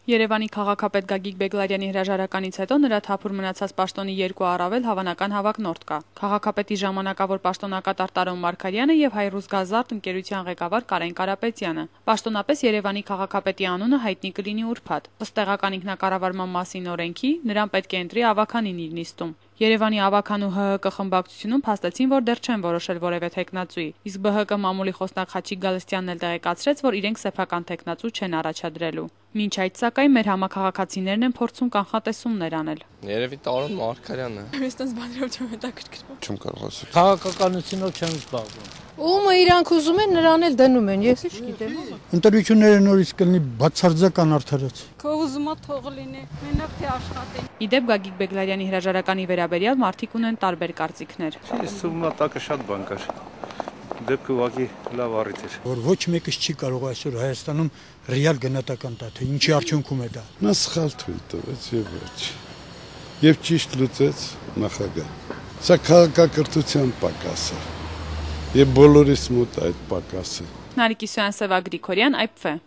Երևանի քաղաքապետ Գագիկ Բեգլարյանի հրաժարականից հետո նրա թափուր մնացած պաշտոնի 2 առավել հավանական հավակնորդ կա։ Քաղաքապետի ժամանակավոր պաշտոնակատար Տարոն Մարգարյանը եւ Հայրուսգազարդ ընկերության ղեկավար Կարեն Կարապետյանը։ Պաշտոնապես Երևանի քաղաքապետի անունը հայտնի կլինի ուրբաթ։ Ըստ տեղական ինքնակառավարման մասին օրենքի նրան պետք է ընտրի ավականին իր նիստում։ Երևանի ավական ու ՀՀԿ խմբակցությունում փաստեցին, որ դեռ չեն որոշել որևէ թեկնածուի, իսկ ԲՀԿ մամուլի խոսնակ Խաչիկ Գալստյանն էլ տեղեկացրեց, որ իրենք սեփական թեկնածու չեն առաջադրելու։ Մինչ այդ սակայն մեր համաքաղաքացիներն են փորձում կանխատեսումներ անել։ Երևի Տարոն Մարգարյանը։ Այստեղ բաներով չեմ հետաքրքրվում։ Չեմ կարող ասել։ Քաղաքականությունով չեմ զբաղվում։ Ումը իրանք ուզում են նրան էլ դնում են, ես ինչ գիտեմ։ Ընտրությունները նորից կլինի բացարձական արդարաց։ Քո ուզումը թող լինի, մենակ թե աշխատեն։ Իդեպ Գագիկ Բեգլարյանի հրաժարականի վերաբերյալ մարդիկ ունեն տարբեր կարծիքներ։ Ես թվում է տակը շատ բան կար։ Դեպքը ուղղակի լավ առիթ էր։ Որ ոչ մեկը չի կարող այսօր Հայաստանում ռեալ գնահատական տա, թե ինչի արդյունքում է դա։ Նա սխալ թույլ տվեց եւ ոչ։ Եվ ճիշտ լուծեց նախագահ։ Սա քաղաքակրթության պակաս է։ Եվ բոլորիս մոտ այդ պակասը։ Նարեկի Սոյան, Սևա Գրիգորյան, IPV